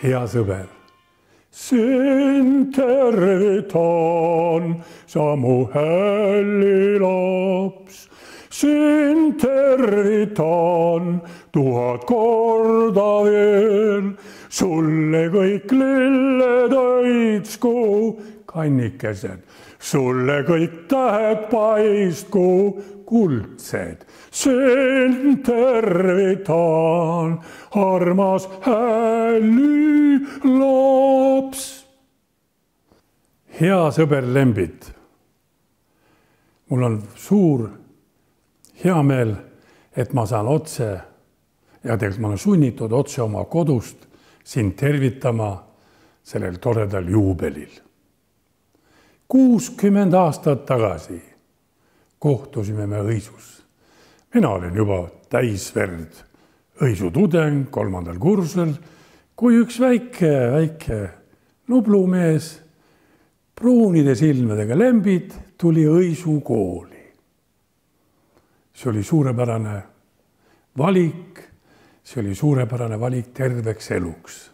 hea sõber. Sind tervitan, sa mu hällilaps. Sind tervitan 1000 korda veel. Sulle kõik lilled õitsku, kannikesed. Sulle kõik tähed paistku, kuldsed. Sind tervitan, armas hällilaps. Hea sõber Lembit, mul on suur hea meel, et ma saan otse ja tegelikult ma olen sunnitud otse oma kodust sind tervitama sellel toredal juubelil. 60 aastat tagasi kohtusime me Õisus. Mina olin juba täisverd õisutudeng 3. kursusel, kui üks väike nublumees pruunide silmadega Lembit tuli Õisu kooli. See oli suurepärane valik, terveks eluks.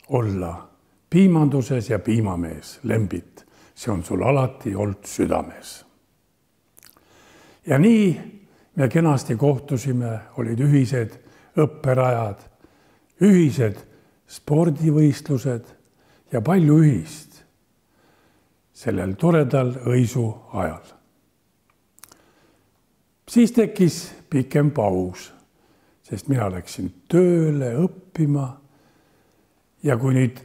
Olla piimanduses ja piimamees, Lembit, see on sul alati olnud südames. Ja nii me kenasti kohtusime, olid ühised õpperajad, ühised spordivõistlused ja palju ühist sellel toredal Õisu ajal. Siis tekkis pikem paus, sest mina läksin tööle õppima ja kui nüüd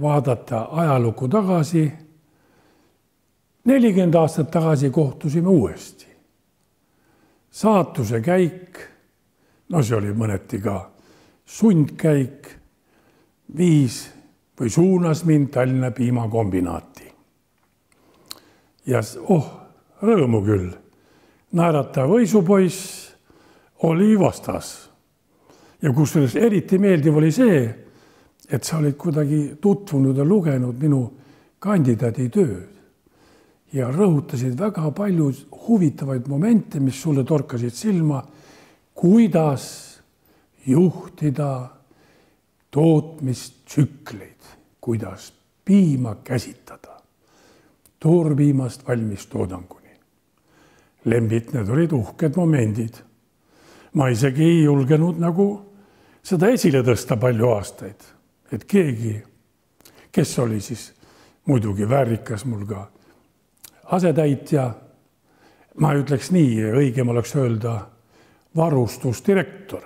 vaadata ajalukku tagasi, 40 aastat tagasi kohtusime uuesti. Saatuse käik, no see oli mõneti ka sundkäik, viis või suunas mind Tallinna piimakombinaati. Ja rõõmu küll, naeratav Õisupoiss oli vastas. Ja kusjuures eriti meeldiv oli see, et sa olid kuidagi tutvunud ja lugenud minu kandidaaditööd ja rõhutasid väga palju huvitavaid momente, mis sulle torkasid silma, kuidas juhtida tootmistsükleid, kuidas piima käsitada, toorpiimast valmis toodanguni. Lembit, need olid uhked momendid. Ma isegi ei julgenud nagu seda esile tõsta palju aastaid, et keegi, kes oli siis muidugi väärikas mul ka asetäitja, ma ütleks nii, õigem oleks öelda varustusdirektor,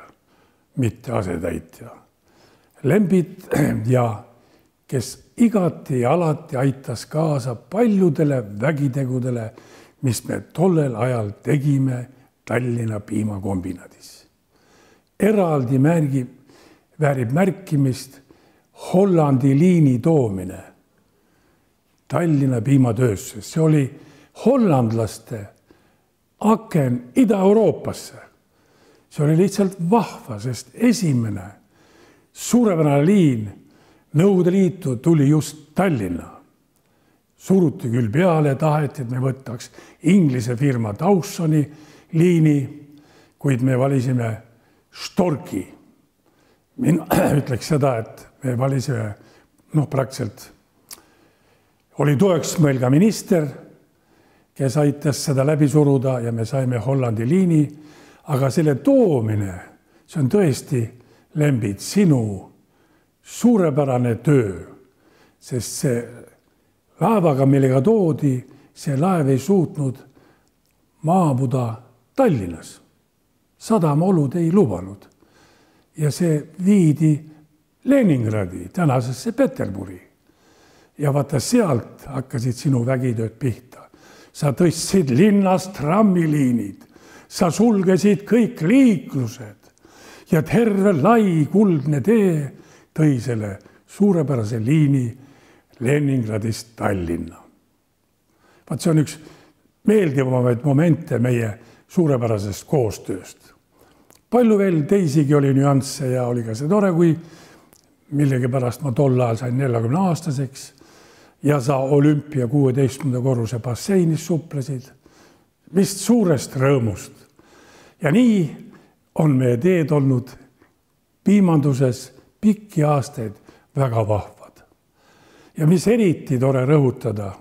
mitte asetäitja. Lembit ja kes igati ja alati aitas kaasa paljudele vägitegudele, mis me tollel ajal tegime Tallinna piimakombinaadis. Eraldi väärib märkimist Hollandi liini toomine Tallinna piimatöösse. See oli hollandlaste aken Ida-Euroopasse. See oli lihtsalt vahva, sest esimene suurepärane liin Nõukogude Liitu tuli just Tallinna. Suruti küll peale, taheti, et me võtaks Inglise firma Dawsoni liini, kuid me valisime Storki. Mina ütleks seda, et me valisime, praktiliselt oli toeks meil ka minister, kes aitas seda läbi suruda ja me saime Hollandi liini, aga selle toomine, see on tõesti, Lembit, sinu suurepärane töö, sest see laevaga, millega toodi, see laev ei suutnud maabuda Tallinnas. Sadamaolud ei lubanud. Ja see viidi Leningradi, tänasesse Peterburi. Ja vaata sealt hakkasid sinu vägitööd pihta. Sa tõstsid linnast trammiliinid, sa sulgesid kõik liiklused ja terve lai kuldne tee tõi selle suurepärase liini Leningradist Tallinna. Vaat see on üks meeldivamaid momente meie suurepärasest koostööst. Palju veel teisigi oli nüansse ja oli ka see tore, kui millegipärast ma tol ajal sain 40-aastaseks ja sa olümpia 16. korruse basseinis suplesid, vist suurest rõõmust. Ja nii on meie teed olnud piimanduses pikki aastaid väga vahvad. Ja mis eriti tore rõhutada,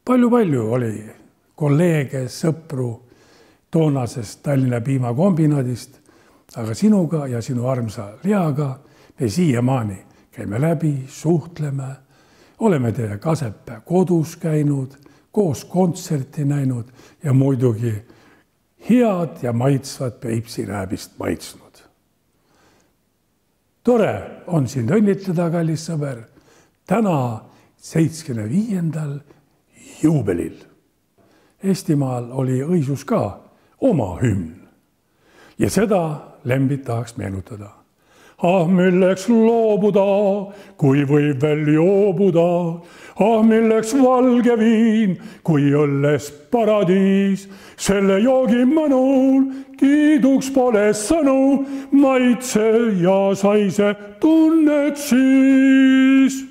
palju oli kolleege, sõpru toonasest Tallinna piimakombinaadist, aga sinuga ja sinu armsa Leaga me siiamaani käime läbi, suhtleme, oleme teie Kasepää kodus käinud, koos kontserti näinud ja muidugi head ja maitsvat Peipsi rääbist maitsnud. Tore on sind õnnitleda, kallis sõber, täna 75. juubelil. Eestimaal oli õisus ka oma hümn ja seda Lembit tahaks meenutada. Ah, milleks loobuda, kui võib veel joobuda, ah, milleks valge viin, kui õlles paradiis, selle joogi mõnul kiiduks pole sõnu, maitse ja saise tunned siis.